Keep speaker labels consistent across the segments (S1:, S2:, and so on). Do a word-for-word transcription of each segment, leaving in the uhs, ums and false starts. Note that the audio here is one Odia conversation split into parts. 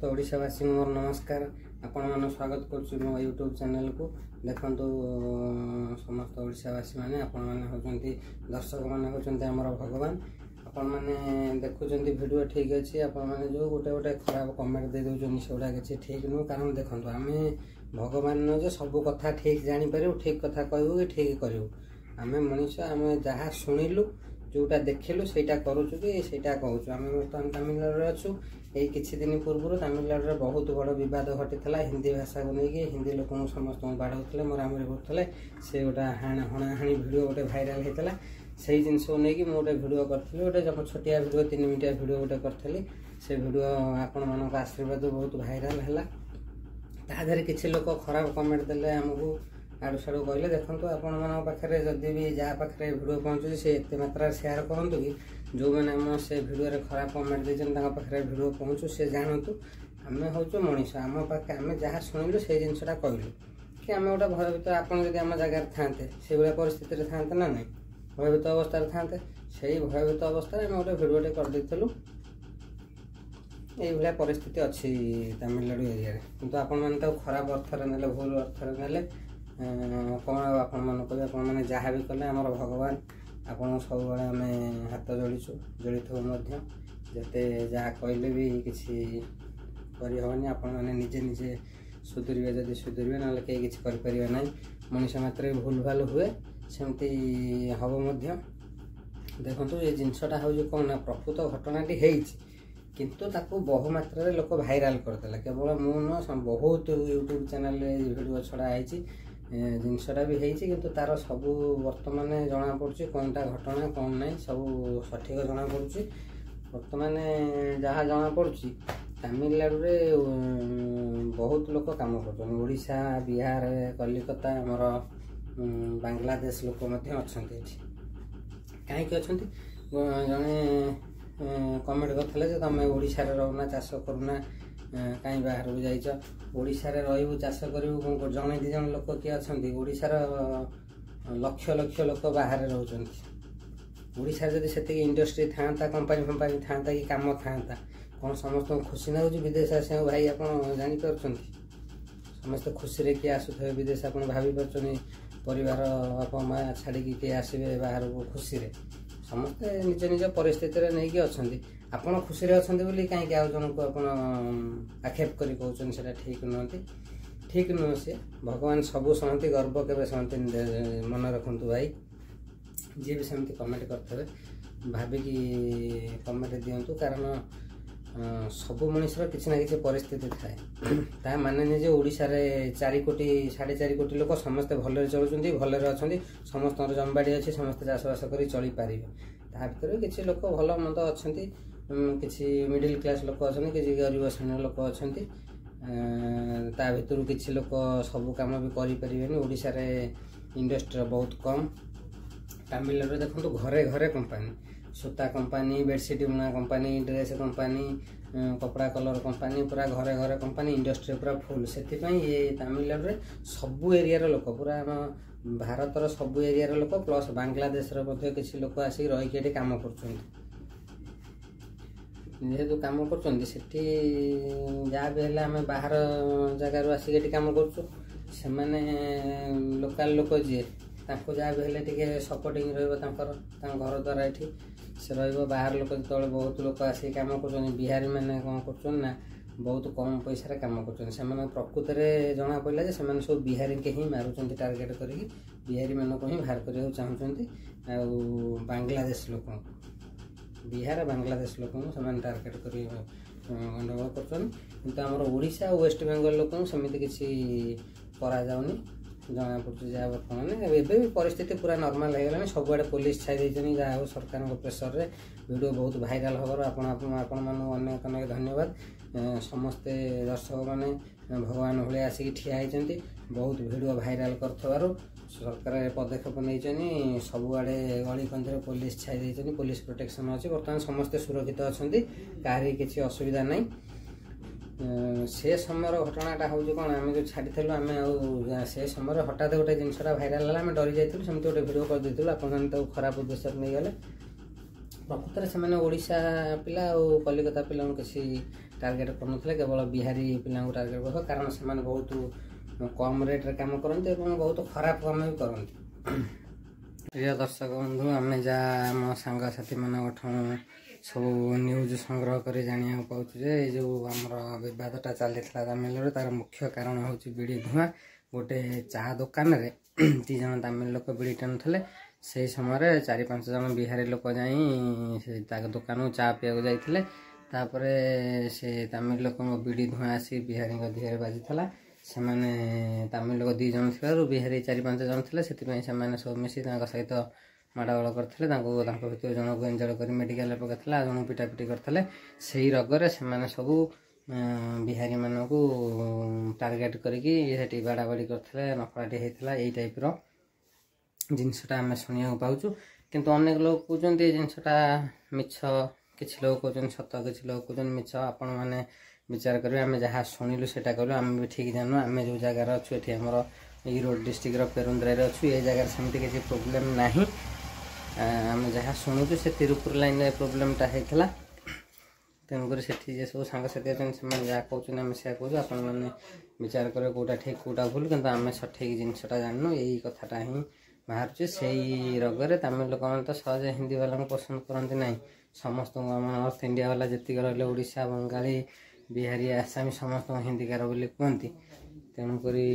S1: ସମସ୍ତ ଓଡ଼ିଶାବାସୀଙ୍କୁ ମୋର ନମସ୍କାର। ଆପଣମାନଙ୍କୁ ସ୍ୱାଗତ କରୁଛି ମୋ ୟୁଟ୍ୟୁବ୍ ଚ୍ୟାନେଲକୁ। ଦେଖନ୍ତୁ ସମସ୍ତ ଓଡ଼ିଶାବାସୀମାନେ, ଆପଣମାନେ ହେଉଛନ୍ତି ଦର୍ଶକମାନେ, ହେଉଛନ୍ତି ଆମର ଭଗବାନ। ଆପଣମାନେ ଦେଖୁଛନ୍ତି ଭିଡ଼ିଓ, ଠିକ୍ ଅଛି। ଆପଣମାନେ ଯେଉଁ ଗୋଟେ ଗୋଟେ ଖରାପ କମେଣ୍ଟ ଦେଇ ଦେଉଛନ୍ତି, ସେଗୁଡ଼ା କିଛି ଠିକ୍ ନୁହଁ। କାରଣ ଦେଖନ୍ତୁ, ଆମେ ଭଗବାନ ନୁହଁ ଯେ ସବୁ କଥା ଠିକ୍ ଜାଣିପାରିବୁ, ଠିକ୍ କଥା କହିବୁ କି ଠିକ୍ କରିବୁ। ଆମେ ମଣିଷ, ଆମେ ଯାହା ଶୁଣିଲୁ, ଯେଉଁଟା ଦେଖିଲୁ, ସେଇଟା କରୁଛୁ କି ସେଇଟା କହୁଛୁ। ଆମେ ବର୍ତ୍ତମାନ ତାମିଲନାଡ଼ୁରେ ଅଛୁ। ଏଇ କିଛି ଦିନ ପୂର୍ବରୁ ତାମିଲନାଡ଼ୁରେ ବହୁତ ବଡ଼ ବିବାଦ ଘଟିଥିଲା ହିନ୍ଦୀ ଭାଷାକୁ ନେଇକି। ହିନ୍ଦୀ ଲୋକଙ୍କୁ ସମସ୍ତଙ୍କୁ ବାଡ଼ଉଥିଲେ, ମରାମରି କରୁଥିଲେ। ସେ ଗୋଟେ ହଣାହାଣି ଭିଡ଼ିଓ ଗୋଟେ ଭାଇରାଲ ହେଇଥିଲା। ସେଇ ଜିନିଷକୁ ନେଇକି ମୁଁ ଗୋଟେ ଭିଡ଼ିଓ କରିଥିଲି, ଗୋଟେ ଛୋଟିଆ ଭିଡ଼ିଓ, ତିନି ମିନିଟିଆ ଭିଡ଼ିଓ ଗୋଟେ କରିଥିଲି। ସେ ଭିଡ଼ିଓ ଆପଣମାନଙ୍କ ଆଶୀର୍ବାଦ ବହୁତ ଭାଇରାଲ ହେଲା। ତା ଦେହରେ କିଛି ଲୋକ ଖରାପ କମେଣ୍ଟ ଦେଲେ, ଆମକୁ ଆଡ଼ୁ ସାଡ଼ୁ କହିଲେ। ଦେଖନ୍ତୁ, ଆପଣମାନଙ୍କ ପାଖରେ ଯଦି ବି ଯାହା ପାଖରେ ଭିଡ଼ିଓ ପହଞ୍ଚୁଛି, ସେ ଏତେ ମାତ୍ରାରେ ସେୟାର କରନ୍ତୁ କି ଯେଉଁମାନେ ଆମ ସେ ଭିଡ଼ିଓରେ ଖରାପ କମେଣ୍ଟ ଦେଇଛନ୍ତି, ତାଙ୍କ ପାଖରେ ଭିଡ଼ିଓ ପହଞ୍ଚୁ, ସେ ଜାଣନ୍ତୁ। ଆମେ ହେଉଛୁ ମଣିଷ, ଆମ ପାଖେ ଆମେ ଯାହା ଶୁଣିଲୁ ସେଇ ଜିନିଷଟା କହିଲୁ କି ଆମେ ଗୋଟେ ଭୟଭୀତ। ଆପଣ ଯଦି ଆମ ଜାଗାରେ ଥାନ୍ତେ, ସେଇଭଳିଆ ପରିସ୍ଥିତିରେ ଥାନ୍ତେ ନା ନାହିଁ? ଭୟଭୀତ ଅବସ୍ଥାରେ ଥାନ୍ତେ। ସେଇ ଭୟଭୀତ ଅବସ୍ଥାରେ ଆମେ ଗୋଟେ ଭିଡ଼ିଓଟେ କରିଦେଇଥିଲୁ। ଏଇଭଳିଆ ପରିସ୍ଥିତି ଅଛି ତାମିଲନାଡ଼ୁ ଏରିଆରେ। କିନ୍ତୁ ଆପଣମାନେ ତାକୁ ଖରାପ ଅର୍ଥରେ ନେଲେ, ଭୁଲ ଅର୍ଥରେ ନେଲେ। କ'ଣ ଆଉ ଆପଣମାନଙ୍କୁ କହିବେ? ଆପଣମାନେ ଯାହା ବି କଲେ, ଆମର ଭଗବାନ ଆପଣଙ୍କୁ ସବୁବେଳେ ଆମେ ହାତ ଯୋଡ଼ିଛୁ, ଯୋଡ଼ିଥିବୁ ମଧ୍ୟ। ଯେତେ ଯାହା କହିଲେ ବି କିଛି କରିହେବନି। ଆପଣମାନେ ନିଜେ ନିଜେ ସୁଧୁରିବେ ଯଦି ସୁଧୁରିବେ, ନହେଲେ କେହି କିଛି କରିପାରିବେ ନାହିଁ। ମଣିଷ ମାତ୍ରେ ଭୁଲ ଭାଲ ହୁଏ, ସେମିତି ହେବ ମଧ୍ୟ। ଦେଖନ୍ତୁ, ଏ ଜିନିଷଟା ହେଉଛି କ'ଣ ନା ପ୍ରକୃତ ଘଟଣାଟି ହେଇଛି, କିନ୍ତୁ ତାକୁ ବହୁ ମାତ୍ରାରେ ଲୋକ ଭାଇରାଲ କରିଦେଲେ। କେବଳ ମୁଁ ନୁହଁ, ବହୁତ ୟୁଟ୍ୟୁବ୍ ଚ୍ୟାନେଲରେ ଭିଡ଼ିଓ ଛଡ଼ା ହେଇଛି। ଜିନିଷଟା ବି ହେଇଛି, କିନ୍ତୁ ତାର ସବୁ ବର୍ତ୍ତମାନ ଜଣାପଡ଼ୁଛି କ'ଣଟା ଘଟଣା, କ'ଣ ନାହିଁ, ସବୁ ସଠିକ ଜଣାପଡ଼ୁଛି। ବର୍ତ୍ତମାନ ଯାହା ଜଣାପଡ଼ୁଛି, ତାମିଲନାଡ଼ୁରେ ବହୁତ ଲୋକ କାମ କରୁଛନ୍ତି। ଓଡ଼ିଶା, ବିହାର, କଲିକତା, ଆମର ବାଂଲାଦେଶ ଲୋକ ମଧ୍ୟ ଅଛନ୍ତି ଏଠି। କାହିଁକି ଅଛନ୍ତି? ଜଣେ କମେଣ୍ଟ କରିଥିଲେ ଯେ ତୁମେ ଓଡ଼ିଶାରେ ରହୁନା, ଚାଷ କରୁନା, କାହିଁ ବାହାରକୁ ଯାଇଛ? ଓଡ଼ିଶାରେ ରହିବୁ, ଚାଷ କରିବୁ, କ'ଣ ଜଣେ ଦୁଇ ଜଣ ଲୋକ କିଏ ଅଛନ୍ତି? ଓଡ଼ିଶାର ଲକ୍ଷ ଲକ୍ଷ ଲୋକ ବାହାରେ ରହୁଛନ୍ତି। ଓଡ଼ିଶାରେ ଯଦି ସେତିକି ଇଣ୍ଡଷ୍ଟ୍ରି ଥାଆନ୍ତା, କମ୍ପାନୀ ଫମ୍ପାନୀ ଥାଆନ୍ତା କି କାମ ଥାଆନ୍ତା, କ'ଣ ସମସ୍ତଙ୍କୁ ଖୁସି ଲାଗୁଛି ବିଦେଶ ଆସିବାକୁ? ଭାଇ, ଆପଣ ଜାଣିପାରୁଛନ୍ତି, ସମସ୍ତେ ଖୁସିରେ କିଏ ଆସୁଥିବେ ବିଦେଶ? ଆପଣ ଭାବିପାରୁଛନ୍ତି, ପରିବାର ବାପା ମା ଛାଡ଼ିକି କିଏ ଆସିବେ ବାହାରକୁ ଖୁସିରେ? ସମସ୍ତେ ନିଜ ନିଜ ପରିସ୍ଥିତିରେ ନେଇକି ଅଛନ୍ତି। ଆପଣ ଖୁସିରେ ଅଛନ୍ତି ବୋଲି କାହିଁକି ଆଉ ଜଣଙ୍କୁ ଆପଣ ଆକ୍ଷେପ କରି କହୁଛନ୍ତି? ସେଇଟା ଠିକ୍ ନୁହନ୍ତି, ଠିକ୍ ନୁହଁ ସିଏ। ଭଗବାନ ସବୁ ସହନ୍ତି, ଗର୍ବ କେବେ ସହନ୍ତିନି, ମନେ ରଖନ୍ତୁ ଭାଇ। ଯିଏ ବି ସେମିତି କମେଣ୍ଟ କରିଥିବେ, ଭାବିକି କମେଣ୍ଟ ଦିଅନ୍ତୁ। କାରଣ ସବୁ ମଣିଷର କିଛି ନା କିଛି ପରିସ୍ଥିତି ଥାଏ। ତା ମାନେ ଯେ ଓଡ଼ିଶାରେ ଚାରି କୋଟି, ସାଢ଼େ ଚାରି କୋଟି ଲୋକ ସମସ୍ତେ ଭଲରେ ଚଳୁଛନ୍ତି, ଭଲରେ ଅଛନ୍ତି, ସମସ୍ତଙ୍କର ଜମିବାଡ଼ି ଅଛି, ସମସ୍ତେ ଚାଷବାସ କରି ଚଳିପାରିବେ। ତା ଭିତରେ କିଛି ଲୋକ ଭଲ ମନ୍ଦ ଅଛନ୍ତି। କିଛି ମିଡ଼ିଲ୍ କ୍ଲାସ୍ ଲୋକ ଅଛନ୍ତି, କିଛି ଗରିବ ଶ୍ରେଣୀର ଲୋକ ଅଛନ୍ତି। ତା ଭିତରୁ କିଛି ଲୋକ ସବୁ କାମ ବି କରିପାରିବେନି। ଓଡ଼ିଶାରେ ଇଣ୍ଡଷ୍ଟ୍ରିର ବହୁତ କମ୍। ତାମିଲନାଡ଼ୁରେ ଦେଖନ୍ତୁ, ଘରେ ଘରେ କମ୍ପାନୀ, ସୂତା କମ୍ପାନୀ, ବେଡ଼ସିଟ୍ ବୁଣା କମ୍ପାନୀ, ଡ୍ରେସ୍ କମ୍ପାନୀ, କପଡ଼ା କଲର୍ କମ୍ପାନୀ, ପୁରା ଘରେ ଘରେ କମ୍ପାନୀ, ଇଣ୍ଡଷ୍ଟ୍ରି ପୁରା ଫୁଲ୍। ସେଥିପାଇଁ ଏ ତାମିଲନାଡ଼ୁରେ ସବୁ ଏରିଆର ଲୋକ, ପୁରା ଆମ ଭାରତର ସବୁ ଏରିଆର ଲୋକ, ପ୍ଲସ୍ ବାଂଲାଦେଶର ମଧ୍ୟ କିଛି ଲୋକ ଆସିକି ରହିକି ଏଠି କାମ କରୁଛନ୍ତି। ଯେହେତୁ କାମ କରୁଛନ୍ତି ସେଠି, ଯାହା ବି ହେଲେ ଆମେ ବାହାର ଜାଗାରୁ ଆସିକି ଏଠି କାମ କରୁଛୁ। ସେମାନେ ଲୋକାଲ ଲୋକ ଯିଏ, ତାଙ୍କୁ ଯାହା ବି ହେଲେ ଟିକେ ସପୋର୍ଟିଂ ରହିବ ତାଙ୍କର, ତାଙ୍କ ଘର ଦ୍ୱାରା ଏଠି ସେ ରହିବ। ବାହାର ଲୋକ ଯେତେବେଳେ ବହୁତ ଲୋକ ଆସିକି କାମ କରୁଛନ୍ତି, ବିହାରୀ ମାନେ କ'ଣ କରୁଛନ୍ତି ନା ବହୁତ କମ୍ ପଇସାରେ କାମ କରୁଛନ୍ତି। ସେମାନେ ପ୍ରକୃତରେ ଜଣାପଡ଼ିଲା ଯେ ସେମାନେ ସବୁ ବିହାରୀକି ହିଁ ମାରୁଛନ୍ତି, ଟାର୍ଗେଟ୍ କରିକି ବିହାରୀମାନଙ୍କୁ ହିଁ ବାହାର କରିବାକୁ ଚାହୁଁଛନ୍ତି। ଆଉ ବାଂଲାଦେଶ ଲୋକଙ୍କୁ, ବିହାର ବାଂଲାଦେଶ ଲୋକଙ୍କୁ ସେମାନେ ଟାର୍ଗେଟ୍ କରି ଗଣ୍ଡଗୋଳ କରୁଛନ୍ତି। କିନ୍ତୁ ଆମର ଓଡ଼ିଶା ଆଉ ୱେଷ୍ଟବେଙ୍ଗଲ ଲୋକଙ୍କୁ ସେମିତି କିଛି କରାଯାଉନି, ଜଣାପଡ଼ୁଛି ଯାହା ବର୍ତ୍ତମାନ। ଏବେ ବି ପରିସ୍ଥିତି ପୁରା ନର୍ମାଲ ହେଇଗଲାଣି। ସବୁଆଡ଼େ ପୋଲିସ ଛାଇ ଦେଇଛନ୍ତି। ଯାହା ହଉ, ସରକାରଙ୍କ ପ୍ରେସରରେ ଭିଡ଼ିଓ ବହୁତ ଭାଇରାଲ ହେବାରୁ ଆପଣ ଆପଣମାନଙ୍କୁ ଅନେକ ଅନେକ ଧନ୍ୟବାଦ। ସମସ୍ତେ ଦର୍ଶକମାନେ ଭଗବାନ ଭଳିଆ ଆସିକି ଠିଆ ହେଇଛନ୍ତି। ବହୁତ ଭିଡ଼ିଓ ଭାଇରାଲ କରିଥିବାରୁ ସରକାର ପଦକ୍ଷେପ ନେଇଛନ୍ତି। ସବୁଆଡ଼େ ଗଳି କନ୍ଦିରେ ପୋଲିସ ଛାଇ ଦେଇଛନ୍ତି, ପୋଲିସ ପ୍ରୋଟେକ୍ସନ୍ ଅଛି। ବର୍ତ୍ତମାନ ସମସ୍ତେ ସୁରକ୍ଷିତ ଅଛନ୍ତି, କାହାରି କିଛି ଅସୁବିଧା ନାହିଁ। ସେ ସମୟର ଘଟଣାଟା ହେଉଛି କ'ଣ, ଆମେ ଯେଉଁ ଛାଡ଼ିଥିଲୁ, ଆମେ ଆଉ ସେ ସମୟରେ ହଠାତ୍ ଗୋଟେ ଜିନିଷଟା ଭାଇରାଲ ହେଲା, ଆମେ ଡରି ଯାଇଥିଲୁ, ସେମିତି ଗୋଟେ ଭିଡ଼ିଓ କରିଦେଇଥିଲୁ। ଆପଣମାନେ ତାକୁ ଖରାପ ଉଦ୍ଦେଶ୍ୟରେ ନେଇଗଲେ। ପ୍ରକୃତରେ ସେମାନେ ଓଡ଼ିଶା ପିଲା ଆଉ କଲିକତା ପିଲାଙ୍କୁ କିଛି ଟାର୍ଗେଟ୍ କରୁନଥିଲେ, କେବଳ ବିହାରୀ ପିଲାଙ୍କୁ ଟାର୍ଗେଟ୍ କରୁଥିଲେ, କାରଣ ସେମାନେ ବହୁତ କମ୍ ରେଟ୍ରେ କାମ କରନ୍ତି ଏବଂ ବହୁତ ଖରାପ କାମ ବି କରନ୍ତି। ପ୍ରିୟ ଦର୍ଶକ ବନ୍ଧୁ, ଆମେ ଯାହା ଆମ ସାଙ୍ଗସାଥିମାନଙ୍କଠୁ ସବୁ ନ୍ୟୁଜ୍ ସଂଗ୍ରହ କରି ଜାଣିବାକୁ ପାଉଛୁ ଯେ ଏଇ ଯେଉଁ ଆମର ବିବାଦଟା ଚାଲିଥିଲା ତାମିଲନାଡ଼ୁ, ତାର ମୁଖ୍ୟ କାରଣ ହେଉଛି ବିଡ଼ି ଧୂଆଁ। ଗୋଟେ ଚା ଦୋକାନରେ ଦୁଇ ଜଣ ତାମିଲ ଲୋକ ବିଡ଼ି ଟାଣୁଥିଲେ। ସେଇ ସମୟରେ ଚାରି ପାଞ୍ଚ ଜଣ ବିହାରୀ ଲୋକ ଯାଇ ସେ ତା ଦୋକାନକୁ ଚା ପିଇବାକୁ ଯାଇଥିଲେ। ତାପରେ ସେ ତାମିଲ ଲୋକଙ୍କ ବିଡ଼ି ଧୂଆଁ ଆସି ବିହାରୀଙ୍କ ଦେହରେ ବାଜିଥିଲା। ସେମାନେ ତାମିଲ ଲୋକ ଦୁଇ ଜଣ ଥିବାରୁ ବିହାରୀ ଚାରି ପାଞ୍ଚ ଜଣ ଥିଲେ, ସେଥିପାଇଁ ସେମାନେ ସବୁ ମିଶି ତାଙ୍କ ସହିତ ମାଡ଼ଗୋଳ କରିଥିଲେ। ତାଙ୍କୁ ତାଙ୍କ ଭିତରୁ ଜଣକୁ ଏଞ୍ଜଡ଼ କରି ମେଡ଼ିକାଲରେ ପକାଇଥିଲେ, ଆଉ ଜଣକୁ ପିଟାପିଟି କରିଥିଲେ। ସେଇ ରୋଗରେ ସେମାନେ ସବୁ ବିହାରୀମାନଙ୍କୁ ଟାର୍ଗେଟ୍ କରିକି ସେଠି ବାଡ଼ାବାଡ଼ି କରିଥିଲେ, ନଫଳାଟି ହେଇଥିଲା। ଏଇ ଟାଇପ୍ର ଜିନିଷଟା ଆମେ ଶୁଣିବାକୁ ପାଉଛୁ। କିନ୍ତୁ ଅନେକ ଲୋକ କହୁଛନ୍ତି ଏ ଜିନିଷଟା ମିଛ, କିଛି ଲୋକ କହୁଛନ୍ତି ସତ, କିଛି ଲୋକ କହୁଛନ୍ତି ମିଛ। ଆପଣମାନେ ବିଚାର କରିବେ। ଆମେ ଯାହା ଶୁଣିଲୁ ସେଇଟା କହିଲୁ, ଆମେ ବି ଠିକ୍ ଜାଣିନୁ। ଆମେ ଯେଉଁ ଜାଗାରେ ଅଛୁ, ଏଠି ଆମର ଇରୋଡ଼ ଡିଷ୍ଟ୍ରିକ୍ଟର ପେରୁନ୍ଦ୍ରାରେ ଅଛୁ, ଏ ଜାଗାରେ ସେମିତି କିଛି ପ୍ରୋବ୍ଲେମ୍ ନାହିଁ। ଆମେ ଯାହା ଶୁଣୁଛୁ, ସେ ତିରୁପୁର ଲାଇନ୍ରେ ପ୍ରୋବ୍ଲେମ୍ଟା ହେଇଥିଲା। ତେଣୁକରି ସେଠି ଯେ ସବୁ ସାଙ୍ଗସାଥି ଅଛନ୍ତି, ସେମାନେ ଯାହା କହୁଛନ୍ତି ଆମେ ସେୟା କହୁଛୁ। ଆପଣମାନେ ବିଚାର କରିବେ କେଉଁଟା ଠିକ୍ କେଉଁଟା ଭୁଲ, କିନ୍ତୁ ଆମେ ସଠିକ୍ ଜିନିଷଟା ଜାଣିନୁ। ଏଇ କଥାଟା ହିଁ ବାହାରୁଛି। ସେଇ ରୋଗରେ ତାମିଲ ଲୋକମାନେ ତ ସହଜେ ହିନ୍ଦୀ ବାଲାଙ୍କୁ ପସନ୍ଦ କରନ୍ତି ନାହିଁ। ସମସ୍ତଙ୍କୁ, ଆମ ନର୍ଥ ଇଣ୍ଡିଆ ବାଲା ଯେତିକି ରହିଲେ, ଓଡ଼ିଶା, ବଙ୍ଗାଳୀ, ବିହାରୀ, ଆସାମୀ, ସମସ୍ତଙ୍କୁ ହିନ୍ଦୀକାର ବୋଲି କୁହନ୍ତି। ତେଣୁକରି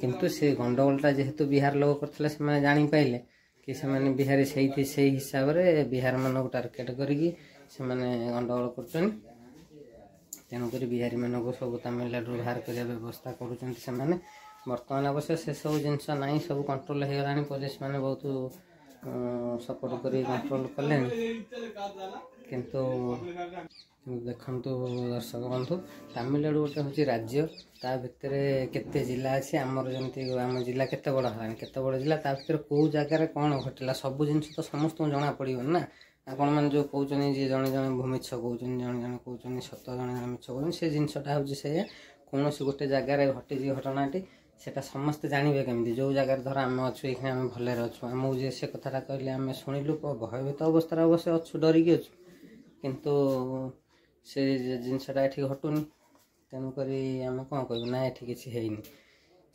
S1: କିନ୍ତୁ ସେ ଗଣ୍ଡଗୋଳଟା ଯେହେତୁ ବିହାର ଲୋକ କରିଥିଲେ, ସେମାନେ ଜାଣିପାରିଲେ କି ସେମାନେ ବିହାରୀ, ସେଇଥି ସେଇ ହିସାବରେ ବିହାରମାନଙ୍କୁ ଟାର୍ଗେଟ୍ କରିକି ସେମାନେ ଗଣ୍ଡଗୋଳ କରୁଛନ୍ତି। ତେଣୁକରି ବିହାରୀମାନଙ୍କୁ ସବୁ ତାମିଲନାଡ଼ୁରୁ ବାହାର କରିବା ବ୍ୟବସ୍ଥା କରୁଛନ୍ତି ସେମାନେ। ବର୍ତ୍ତମାନ ଅବଶ୍ୟ ସେସବୁ ଜିନିଷ ନାହିଁ, ସବୁ କଣ୍ଟ୍ରୋଲ ହେଇଗଲାଣି। ପୋଲିସ ମାନେ ବହୁତ ସପୋର୍ଟ କରି କଣ୍ଟ୍ରୋଲ କଲେଣି। କିନ୍ତୁ ଦେଖନ୍ତୁ ଦର୍ଶକ ବନ୍ଧୁ, ତାମିଲନାଡ଼ୁ ଗୋଟେ ହେଉଛି ରାଜ୍ୟ, ତା ଭିତରେ କେତେ ଜିଲ୍ଲା ଅଛି। ଆମର ଯେମିତି ଆମ ଜିଲ୍ଲା କେତେ ବଡ଼ ହେଲାଣି, କେତେ ବଡ଼ ଜିଲ୍ଲା, ତା ଭିତରେ କେଉଁ ଜାଗାରେ କ'ଣ ଘଟିଲା ସବୁ ଜିନିଷ ତ ସମସ୍ତଙ୍କୁ ଜଣା ପଡ଼ିବନି ନା। ଆପଣମାନେ ଯେଉଁ କହୁଛନ୍ତି ଯେ ଜଣେ ଜଣେ ମିଛ କହୁଛନ୍ତି, ଜଣେ ଜଣେ କହୁଛନ୍ତି ସତ, ଜଣେ ଜଣେ ମିଛ କହୁଛନ୍ତି, ସେ ଜିନିଷଟା ହେଉଛି ସେଇଆ। କୌଣସି ଗୋଟେ ଜାଗାରେ ଘଟିଛି ଘଟଣାଟି, ସେଟା ସମସ୍ତେ ଜାଣିବେ କେମିତି? ଯେଉଁ ଜାଗାରେ ଧର ଆମେ ଅଛୁ, ଏଇଖିଣା ଆମେ ଭଲରେ ଅଛୁ, ଆମକୁ ଯିଏ ସେ କଥାଟା କହିଲେ ଆମେ ଶୁଣିଲୁ, ଭୟଭୀତ ଅବସ୍ଥାରେ ଅବଶ୍ୟ ଅଛୁ, ଡରିକି ଅଛୁ, କିନ୍ତୁ ସେ ଜିନିଷଟା ଏଠି ଘଟୁନି। ତେଣୁକରି ଆମେ କ'ଣ କହିବୁ ନା ଏଠି କିଛି ହେଇନି?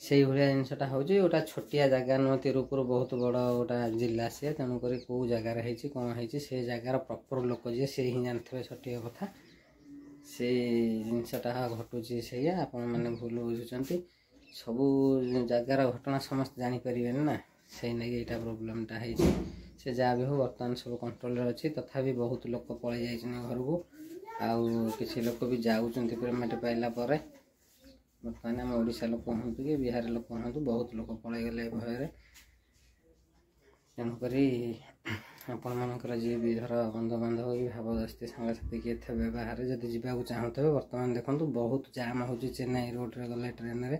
S1: ସେଇଭଳିଆ ଜିନିଷଟା ହେଉଛି। ଗୋଟା ଛୋଟିଆ ଜାଗା ନୁହଁ ତିରୁପୁର, ବହୁତ ବଡ଼ ଗୋଟା ଜିଲ୍ଲା ସିଏ। ତେଣୁକରି କେଉଁ ଜାଗାରେ ହେଇଛି କ'ଣ ହେଇଛି, ସେ ଜାଗାର ପ୍ରପର୍ ଲୋକ ଯିଏ ସେ ହିଁ ଜାଣିଥିବେ ସଠିକ କଥା। ସେ ଜିନିଷଟା ଘଟୁଛି ସେଇଆ, ଆପଣମାନେ ଭୁଲ ବୁଝୁଛନ୍ତି। ସବୁ ଜାଗାର ଘଟଣା ସମସ୍ତେ ଜାଣିପାରିବେନି ନା, ସେଇ ନାଗି ଏଇଟା ପ୍ରୋବ୍ଲେମଟା ହେଇଛି। ସେ ଯାହା ବି ହଉ, ବର୍ତ୍ତମାନ ସବୁ କଣ୍ଟ୍ରୋଲରେ ଅଛି। ତଥାପି ବହୁତ ଲୋକ ପଳେଇ ଯାଇଛନ୍ତି ଘରକୁ, ଆଉ କିଛି ଲୋକ ବି ଯାଉଛନ୍ତି ପେମେଣ୍ଟ ପାଇଲା ପରେ। ବର୍ତ୍ତମାନ ଆମ ଓଡ଼ିଶା ଲୋକ ହୁଅନ୍ତୁ କି ବିହାର ଲୋକ ହୁଅନ୍ତୁ, ବହୁତ ଲୋକ ପଳେଇଗଲେ ଭୟରେ। ତେଣୁକରି ଆପଣମାନଙ୍କର ଯିଏ ବି ଧର ବନ୍ଧୁବାନ୍ଧବ କି ଭାବଦୋସ୍ତି ସାଙ୍ଗସାଥି କିଏ ଥିବେ ବାହାରେ, ଯଦି ଯିବାକୁ ଚାହୁଁଥିବେ, ବର୍ତ୍ତମାନ ଦେଖନ୍ତୁ ବହୁତ ଜାମ୍ ହେଉଛି ଚେନ୍ନାଇ ରୋଡ଼ରେ ଗଲେ ଟ୍ରେନରେ।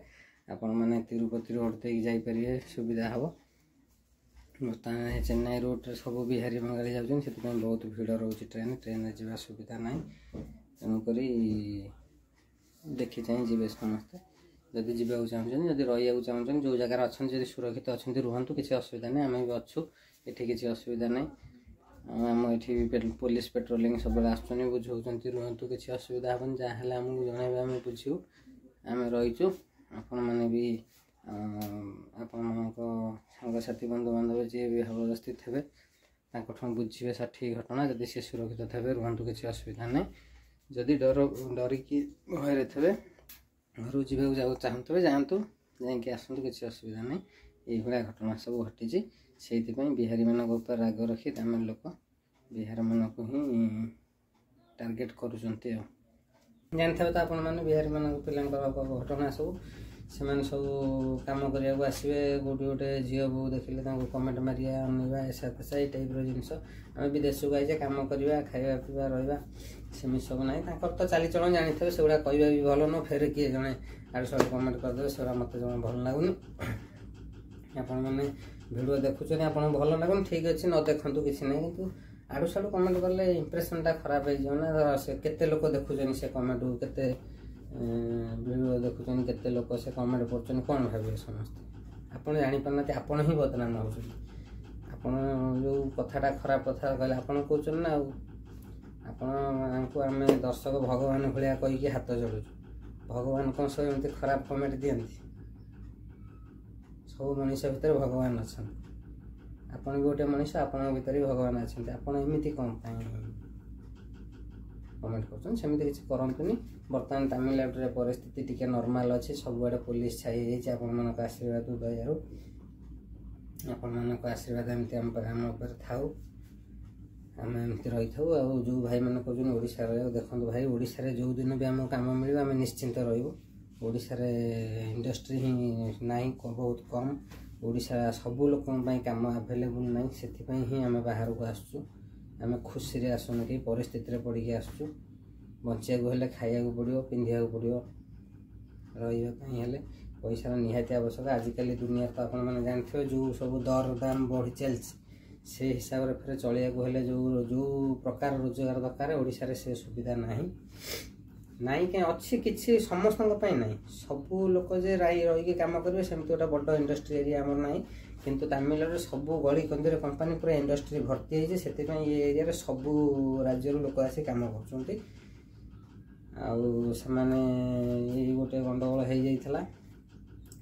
S1: ଆପଣମାନେ ତିରୁପତି ରୋଡ଼ ଦେଇକି ଯାଇପାରିବେ, ସୁବିଧା ହେବ। ବର୍ତ୍ତମାନ ଚେନ୍ନାଇ ରୋଡ଼ରେ ସବୁ ବିହାରୀ ବଙ୍ଗାଳୀ ଯାଉଛନ୍ତି, ସେଥିପାଇଁ ବହୁତ ଭିଡ଼ ରହୁଛି ଟ୍ରେନ୍ ଟ୍ରେନରେ ଯିବା ସୁବିଧା ନାହିଁ। ତେଣୁକରି ଦେଖି ଚାହିଁ ଯିବେ ସମସ୍ତେ ଯଦି ଯିବାକୁ ଚାହୁଁଛନ୍ତି। ଯଦି ରହିବାକୁ ଚାହୁଁଛନ୍ତି, ଯେଉଁ ଜାଗାରେ ଅଛନ୍ତି ଯଦି ସୁରକ୍ଷିତ ଅଛନ୍ତି ରୁହନ୍ତୁ, କିଛି ଅସୁବିଧା ନାହିଁ। ଆମେ ବି ଅଛୁ ଏଠି, କିଛି ଅସୁବିଧା ନାହିଁ। ଆମ ଏଠି ବି ପୋଲିସ ପେଟ୍ରୋଲିଂ ସବୁବେଳେ ଆସୁଛନ୍ତି, ବୁଝାଉଛନ୍ତି, ରୁହନ୍ତୁ, କିଛି ଅସୁବିଧା ହେବନି, ଯାହା ହେଲେ ଆମକୁ ଜଣାଇବେ, ଆମେ ବୁଝିବୁ। ଆମେ ରହିଛୁ। ଆପଣମାନେ ବି ଆପଣମାନଙ୍କ ସାଙ୍ଗସାଥି ବନ୍ଧୁବାନ୍ଧବ ଯିଏ ବି ଭାବଦସ୍ତି ଥିବେ, ତାଙ୍କଠୁ ବୁଝିବେ ସଠିକ୍ ଘଟଣା। ଯଦି ସେ ସୁରକ୍ଷିତ ଥିବେ ରୁହନ୍ତୁ, କିଛି ଅସୁବିଧା ନାହିଁ। ଯଦି ଡର ଡରିକି ଭୟରେ ଥିବେ, ଘରକୁ ଯିବାକୁ ଯାଉ ଚାହୁଁଥିବେ, ଯାଆନ୍ତୁ, ଯାଇକି ଆସନ୍ତୁ, କିଛି ଅସୁବିଧା ନାହିଁ। ଏଇଭଳିଆ ଘଟଣା ସବୁ ଘଟିଛି। ସେଇଥିପାଇଁ ବିହାରୀମାନଙ୍କ ଉପରେ ରାଗ ରଖି ତାମିଲ ଲୋକ ବିହାରମାନଙ୍କୁ ହିଁ ଟାର୍ଗେଟ୍ କରୁଛନ୍ତି। ଆଉ ଜାଣିଥିବେ ତ ଆପଣମାନେ ବିହାରୀମାନଙ୍କ ପିଲାଙ୍କର ଘଟଣା ସବୁ। ସେମାନେ ସବୁ କାମ କରିବାକୁ ଆସିବେ, କେଉଁଠି ଗୋଟେ ଝିଅ ବୋହୂ ଦେଖିଲେ ତାଙ୍କୁ କମେଣ୍ଟ ମାରିବା, ଅନେଇବା, ଏସା ତେସା, ଏଇ ଟାଇପ୍ର ଜିନିଷ। ଆମେ ବି ଦେଶକୁ ଆଇଛେ, କାମ କରିବା, ଖାଇବା ପିଇବା, ରହିବା, ସେମିତି ସବୁ ନାହିଁ। ତାଙ୍କର ତ ଚାଲିଚଳନ ଜାଣିଥିବେ, ସେଗୁଡ଼ା କହିବା ବି ଭଲ ନୁହଁ। ଫେରେ କିଏ ଜଣେ ଆଡ଼ୁ ସାଡ଼ୁ କମେଣ୍ଟ କରିଦେବେ, ସେଗୁଡ଼ା ମୋତେ ଜମା ଭଲ ଲାଗୁନି। ଆପଣମାନେ ଭିଡ଼ିଓ ଦେଖୁଛନ୍ତି, ଆପଣଙ୍କୁ ଭଲ ଲାଗୁନି, ଠିକ୍ ଅଛି, ନ ଦେଖନ୍ତୁ, କିଛି ନାହିଁ। କିନ୍ତୁ ଆଡ଼ୁ ସାଡ଼ୁ କମେଣ୍ଟ କଲେ ଇମ୍ପ୍ରେସନଟା ଖରାପ ହେଇଯିବ ନା। ଧର ସେ କେତେ ଲୋକ ଦେଖୁଛନ୍ତି ସେ କମେଣ୍ଟକୁ, କେତେ ଭିଡ଼ିଓ ଦେଖୁଛନ୍ତି, କେତେ ଲୋକ ସେ କମେଣ୍ଟ କରୁଛନ୍ତି, କ'ଣ ଭାବିବେ ସମସ୍ତେ? ଆପଣ ଜାଣିପାରୁନାହାନ୍ତି, ଆପଣ ହିଁ ବଦନାମ ହେଉଛନ୍ତି। ଆପଣ ଯେଉଁ କଥାଟା ଖରାପ କଥା କହିଲେ ଆପଣ କହୁଛନ୍ତି ନା ଆଉ। ଆପଣଙ୍କୁ ଆମେ ଦର୍ଶକ ଭଗବାନ ଭଳିଆ କହିକି ହାତ ଯୋଡ଼ୁଛୁ। ଭଗବାନ କ'ଣ ସବୁ ଏମିତି ଖରାପ କମେଣ୍ଟ ଦିଅନ୍ତି? ସବୁ ମଣିଷ ଭିତରେ ଭଗବାନ ଅଛନ୍ତି। ଆପଣ ବି ଗୋଟେ ମଣିଷ, ଆପଣଙ୍କ ଭିତରେ ବି ଭଗବାନ ଅଛନ୍ତି। ଆପଣ ଏମିତି କ'ଣ ପାଇଁ କମେଣ୍ଟ କରୁଛନ୍ତି? ସେମିତି କିଛି କରନ୍ତୁନି। ବର୍ତ୍ତମାନ ତାମିଲନାଡ଼ୁରେ ପରିସ୍ଥିତି ଟିକେ ନର୍ମାଲ୍ ଅଛି, ସବୁଆଡ଼େ ପୋଲିସ ଛାଇ ହେଇଯାଇଛି ଆପଣମାନଙ୍କ ଆଶୀର୍ବାଦ ଦୟାରୁ। ଆପଣମାନଙ୍କ ଆଶୀର୍ବାଦ ଏମିତି ଆମ ଆମ ଉପରେ ଥାଉ, ଆମେ ଏମିତି ରହିଥାଉ। ଆଉ ଯେଉଁ ଭାଇମାନେ କହୁଛନ୍ତି ଓଡ଼ିଶାରେ ରହିବ, ଦେଖନ୍ତୁ ଭାଇ, ଓଡ଼ିଶାରେ ଯେଉଁ ଦିନ ବି ଆମକୁ କାମ ମିଳିବ ଆମେ ନିଶ୍ଚିନ୍ତ ରହିବୁ। ଓଡ଼ିଶାରେ ଇଣ୍ଡଷ୍ଟ୍ରି ହିଁ ନାହିଁ, ବହୁତ କମ୍। ଓଡ଼ିଶା ସବୁ ଲୋକଙ୍କ ପାଇଁ କାମ ଆଭେଲେବୁଲ୍ ନାହିଁ, ସେଥିପାଇଁ ହିଁ ଆମେ ବାହାରକୁ ଆସୁଛୁ। ଆମେ ଖୁସିରେ ଆସୁନୁ କି ପରିସ୍ଥିତିରେ ପଡ଼ିକି ଆସୁଛୁ। ବଞ୍ଚିବାକୁ ହେଲେ ଖାଇବାକୁ ପଡ଼ିବ, ପିନ୍ଧିବାକୁ ପଡ଼ିବ, ରହିବା ପାଇଁ ହେଲେ ପଇସାର ନିହାତି ଆବଶ୍ୟକ। ଆଜିକାଲି ଦୁନିଆରେ ତ ଆପଣମାନେ ଜାଣିଥିବେ ଯେଉଁ ସବୁ ଦର ଦାମ ବଢ଼ି ଚାଲିଛି, ସେ ହିସାବରେ ଫେରେ ଚଳିବାକୁ ହେଲେ ଯେଉଁ ଯେଉଁ ପ୍ରକାର ରୋଜଗାର ଦରକାର, ଓଡ଼ିଶାରେ ସେ ସୁବିଧା ନାହିଁ। ନାହିଁ କାହିଁ, ଅଛି କିଛି, ସମସ୍ତଙ୍କ ପାଇଁ ନାହିଁ। ସବୁ ଲୋକ ଯେ ରାଇ ରହିକି କାମ କରିବେ ସେମିତି ଗୋଟେ ବଡ଼ ଇଣ୍ଡଷ୍ଟ୍ରି ଏରିଆ ଆମର ନାହିଁ। କିନ୍ତୁ ତାମିଲନାଡ଼ୁରେ ସବୁ ଗଳି କନ୍ଦିରେ କମ୍ପାନୀ, ପୁରା ଇଣ୍ଡଷ୍ଟ୍ରି ଭର୍ତ୍ତି ହେଇଛି। ସେଥିପାଇଁ ଏ ଏରିଆରେ ସବୁ ରାଜ୍ୟରୁ ଲୋକ ଆସି କାମ କରୁଛନ୍ତି। ଆଉ ସେମାନେ ଏଇ ଗୋଟେ ଗଣ୍ଡଗୋଳ ହେଇଯାଇଥିଲା,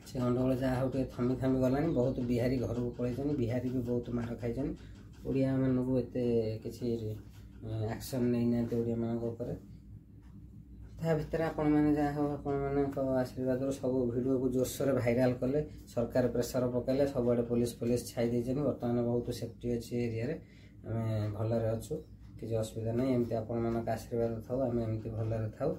S1: ସେ ଗଣ୍ଡଗୋଳ ଯାହା ହଉ ଟିକେ ଥମି ଥମି ଗଲାଣି। ବହୁତ ବିହାରୀ ଘରକୁ ପଳେଇଛନ୍ତି, ବିହାରୀ ବି ବହୁତ ମାଡ଼ ଖାଇଛନ୍ତି। ଓଡ଼ିଆମାନଙ୍କୁ ଏତେ କିଛି ଆକ୍ସନ୍ ନେଇନାହାନ୍ତି ଓଡ଼ିଆମାନଙ୍କ ଉପରେ। ତା ଭିତରେ ଆପଣମାନେ ଯାହା ହଉ ଆପଣମାନଙ୍କ ଆଶୀର୍ବାଦରୁ ସବୁ ଭିଡ଼ିଓକୁ ଜୋରସୋରରେ ଭାଇରାଲ୍ କଲେ, ସରକାର ପ୍ରେସର ପକାଇଲେ, ସବୁଆଡ଼େ ପୋଲିସ ଫୋଲିସ ଛାଇ ଦେଇଛନ୍ତି। ବର୍ତ୍ତମାନ ବହୁତ ସେଫ୍ଟି ଅଛି ଏରିଆରେ, ଆମେ ଭଲରେ ଅଛୁ, କିଛି ଅସୁବିଧା ନାହିଁ। ଏମିତି ଆପଣମାନଙ୍କ ଆଶୀର୍ବାଦ ଥାଉ, ଆମେ ଏମିତି ଭଲରେ ଥାଉ।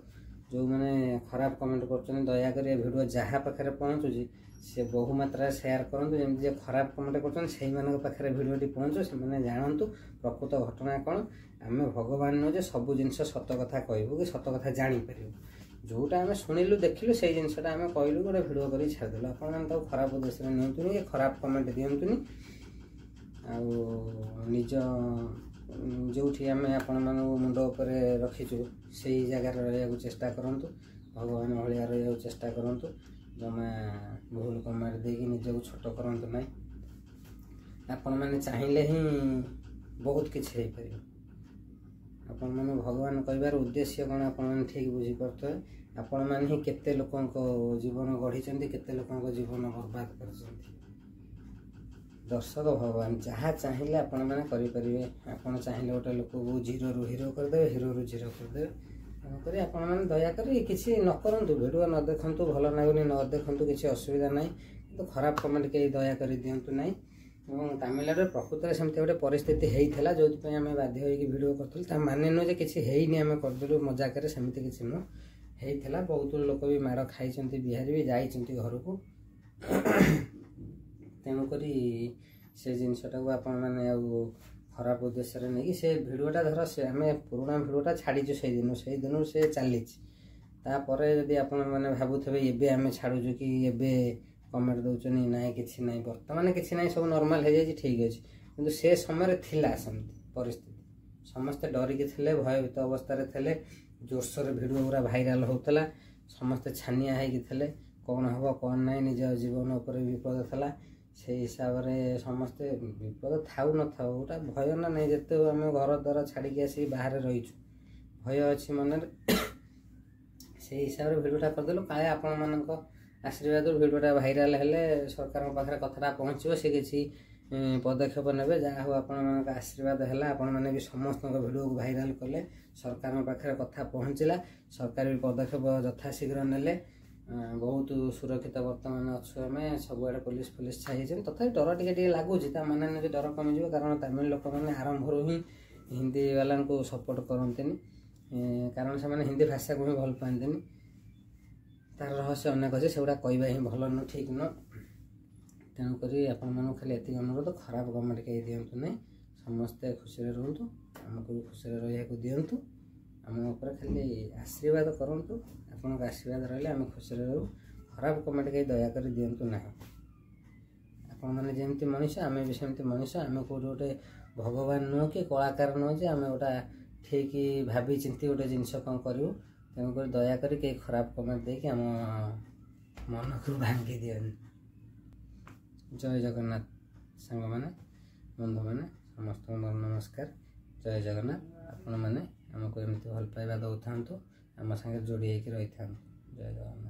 S1: ଯେଉଁମାନେ ଖରାପ କମେଣ୍ଟ କରୁଛନ୍ତି, ଦୟାକରି ଏ ଭିଡ଼ିଓ ଯାହା ପାଖରେ ପହଞ୍ଚୁଛି ସେ ବହୁ ମାତ୍ରାରେ ସେୟାର କରନ୍ତୁ, ଯେମିତି ଯେ ଖରାପ କମେଣ୍ଟ କରୁଛନ୍ତି ସେଇମାନଙ୍କ ପାଖରେ ଭିଡ଼ିଓଟି ପହଞ୍ଚୁ, ସେମାନେ ଜାଣନ୍ତୁ ପ୍ରକୃତ ଘଟଣା କ'ଣ। ଆମେ ଭଗବାନ ନୁହଁ ଯେ ସବୁ ଜିନିଷ ସତ କଥା କହିବୁ କି ସତ କଥା ଜାଣିପାରିବୁ। ଯେଉଁଟା ଆମେ ଶୁଣିଲୁ ଦେଖିଲୁ ସେଇ ଜିନିଷଟା ଆମେ କହିଲୁ, ଗୋଟେ ଭିଡ଼ିଓ କରିକି ଛାଡ଼ିଦେଲୁ। ଆପଣମାନେ ତାକୁ ଖରାପ ଉଦ୍ଦେଶ୍ୟରେ ନିଅନ୍ତୁନି କି ଖରାପ କମେଣ୍ଟ ଦିଅନ୍ତୁନି। ଆଉ ନିଜ ଯେଉଁଠି ଆମେ ଆପଣମାନଙ୍କୁ ମୁଣ୍ଡ ଉପରେ ରଖିଛୁ ସେଇ ଜାଗାରେ ରହିବାକୁ ଚେଷ୍ଟା କରନ୍ତୁ, ଭଗବାନ ଭଳିଆ ରହିବାକୁ ଚେଷ୍ଟା କରନ୍ତୁ। ଜମା ଭୁଲ କମେଣ୍ଟ ଦେଇକି ନିଜକୁ ଛୋଟ କରନ୍ତୁ ନାହିଁ। ଆପଣମାନେ ଚାହିଁଲେ ହିଁ ବହୁତ କିଛି ହେଇପାରିବ। ଆପଣମାନେ ଭଗବାନ କହିବାର ଉଦ୍ଦେଶ୍ୟ କ'ଣ ଆପଣମାନେ ଠିକ୍ ବୁଝିପାରୁଥିବେ। ଆପଣମାନେ ହିଁ କେତେ ଲୋକଙ୍କ ଜୀବନ ଗଢ଼ିଛନ୍ତି, କେତେ ଲୋକଙ୍କ ଜୀବନ ବର୍ବାଦ କରିଛନ୍ତି। ଦର୍ଶକ ଭଗବାନ ଯାହା ଚାହିଁଲେ ଆପଣମାନେ କରିପାରିବେ। ଆପଣ ଚାହିଁଲେ ଗୋଟେ ଲୋକକୁ ଜିରୋରୁ ହିରୋ କରିଦେବେ, ହିରୋରୁ ଜିରୋ କରିଦେବେ। ତେଣୁକରି ଆପଣମାନେ ଦୟାକରି କିଛି ନ କରନ୍ତୁ, ଭିଡ଼ିଓ ନ ଦେଖନ୍ତୁ, ଭଲ ଲାଗୁନି ନ ଦେଖନ୍ତୁ, କିଛି ଅସୁବିଧା ନାହିଁ। କିନ୍ତୁ ଖରାପ କମେଣ୍ଟ କେହି ଦୟାକରି ଦିଅନ୍ତୁ ନାହିଁ। ଏବଂ ତାମିଲନାଡ଼ୁରେ ପ୍ରକୃତରେ ସେମିତି ଗୋଟେ ପରିସ୍ଥିତି ହେଇଥିଲା, ଯେଉଁଥିପାଇଁ ଆମେ ବାଧ୍ୟ ହେଇକି ଭିଡ଼ିଓ କରିଥିଲୁ। ତା ମାନେ ନୁହେଁ ଯେ କିଛି ହେଇନି ଆମେ କରିଦେଲୁ ମଜାକରେ, ସେମିତି କିଛି ନୁହଁ। ହେଇଥିଲା, ବହୁତ ଲୋକ ବି ମାଡ଼ ଖାଇଛନ୍ତି, ବିହାରୀ ବି ଯାଇଛନ୍ତି ଘରକୁ। ତେଣୁକରି ସେ ଜିନିଷଟାକୁ ଆପଣମାନେ ଆଉ ଖରାପ ଉଦ୍ଦେଶ୍ୟରେ ନେଇକି ସେ ଭିଡ଼ିଓଟା ଧର ସେ ଆମେ ପୁରୁଣା ଭିଡ଼ିଓଟା ଛାଡ଼ିଛୁ ସେଇଦିନୁ, ସେଇଦିନରୁ ସେ ଚାଲିଛି। ତାପରେ ଯଦି ଆପଣମାନେ ଭାବୁଥିବେ ଏବେ ଆମେ ଛାଡ଼ୁଛୁ କି ଏବେ କମେଣ୍ଟ ଦେଉଛନ୍ତି, ନାଇଁ କିଛି ନାହିଁ, ବର୍ତ୍ତମାନ କିଛି ନାହିଁ, ସବୁ ନର୍ମାଲ୍ ହେଇଯାଇଛି, ଠିକ୍ ଅଛି। କିନ୍ତୁ ସେ ସମୟରେ ଥିଲା ସେମିତି ପରିସ୍ଥିତି, ସମସ୍ତେ ଡରିକି ଥିଲେ, ଭୟଭୀତ ଅବସ୍ଥାରେ ଥିଲେ, ଜୋରସୋରରେ ଭିଡ଼ିଓ ଗୁଡ଼ା ଭାଇରାଲ୍ ହେଉଥିଲା, ସମସ୍ତେ ଛାନିଆ ହେଇକି ଥିଲେ, କ'ଣ ହେବ କ'ଣ ନାହିଁ, ନିଜ ଜୀବନ ଉପରେ ବିପଦ ଥିଲା। ସେଇ ହିସାବରେ ସମସ୍ତେ ବିପଦ ଥାଉ ନଥାଉ ଗୋଟା ଭୟ ନା ନାହିଁ, ଯେତେ ଆମେ ଘର ଦ୍ୱାର ଛାଡ଼ିକି ଆସିକି ବାହାରେ ରହିଛୁ, ଭୟ ଅଛି ମନରେ। ସେଇ ହିସାବରେ ଭିଡ଼ିଓଟା କରିଦେଲୁ, କାଳେ ଆପଣମାନଙ୍କ ଆଶୀର୍ବାଦରୁ ଭିଡ଼ିଓଟା ଭାଇରାଲ୍ ହେଲେ ସରକାରଙ୍କ ପାଖରେ କଥାଟା ପହଞ୍ଚିବ, ସେ କିଛି ପଦକ୍ଷେପ ନେବେ। ଯାହା ହଉ ଆପଣମାନଙ୍କ ଆଶୀର୍ବାଦ ହେଲା, ଆପଣମାନେ ବି ସମସ୍ତଙ୍କ ଭିଡ଼ିଓକୁ ଭାଇରାଲ୍ କଲେ, ସରକାରଙ୍କ ପାଖରେ କଥା ପହଞ୍ଚିଲା, ସରକାର ବି ପଦକ୍ଷେପ ଯଥାଶୀଘ୍ର ନେଲେ। ବହୁତ ସୁରକ୍ଷିତ ବର୍ତ୍ତମାନ ଅଛୁ ଆମେ, ସବୁଆଡ଼େ ପୋଲିସ ଫୋଲିସ ଛାଇ ହେଇଛନ୍ତି। ତଥାପି ଡର ଟିକେ ଟିକେ ଲାଗୁଛି, ତା ମାନେ ନୁହେଁ ଯେ ଡର କମିଯିବ, କାରଣ ତାମିଲ ଲୋକମାନେ ଆରମ୍ଭରୁ ହିଁ ହିନ୍ଦୀ ବାଲାଙ୍କୁ ସପୋର୍ଟ କରନ୍ତିନି, କାରଣ ସେମାନେ ହିନ୍ଦୀ ଭାଷାକୁ ହିଁ ଭଲ ପାଆନ୍ତିନି। ତାର ରହସ୍ୟ ଅନେକ ଅଛି, ସେଗୁଡ଼ା କହିବା ହିଁ ଭଲ ନୁହଁ, ଠିକ୍ ନୁହଁ। ତେଣୁକରି ଆପଣମାନଙ୍କୁ ଖାଲି ଏତିକି ଅନୁରୋଧ, ଖରାପ କମେଣ୍ଟ କେହି ଦିଅନ୍ତୁ ନାହିଁ। ସମସ୍ତେ ଖୁସିରେ ରୁହନ୍ତୁ, ଆମକୁ ବି ଖୁସିରେ ରହିବାକୁ ଦିଅନ୍ତୁ। ଆମ ଉପରେ ଖାଲି ଆଶୀର୍ବାଦ କରନ୍ତୁ, ଆପଣଙ୍କ ଆଶୀର୍ବାଦ ରହିଲେ ଆମେ ଖୁସିରେ ରହୁ। ଖରାପ କମେଣ୍ଟ କେହି ଦୟାକରି ଦିଅନ୍ତୁ ନାହିଁ। ଆପଣମାନେ ଯେମିତି ମଣିଷ, ଆମେ ବି ସେମିତି ମଣିଷ। ଆମେ କେଉଁଠି ଗୋଟେ ଭଗବାନ ନୁହଁ କି କଳାକାର ନୁହଁ ଯେ ଆମେ ଗୋଟା ଠିକ୍ ଭାବି ଚିନ୍ତି ଗୋଟେ ଜିନିଷ କ'ଣ କରିବୁ। ତେଣୁକରି ଦୟାକରି କେହି ଖରାପ କମେଣ୍ଟ ଦେଇକି ଆମ ମନକୁ ଭାଙ୍ଗି ଦିଅନି। ଜୟ ଜଗନ୍ନାଥ ସାଙ୍ଗମାନେ, ବନ୍ଧୁମାନେ, ସମସ୍ତଙ୍କୁ ମୋର ନମସ୍କାର। ଜୟ ଜଗନ୍ନାଥ। ଆପଣମାନେ ଆମକୁ ଏମିତି ଭଲ ପାଇବା ଦେଉଥାନ୍ତୁ, ଆମ ସାଙ୍ଗରେ ଯୋଡ଼ି ହେଇକି ରହିଥାନ୍ତୁ। ଜୟ ଜଗନ୍ନାଥ।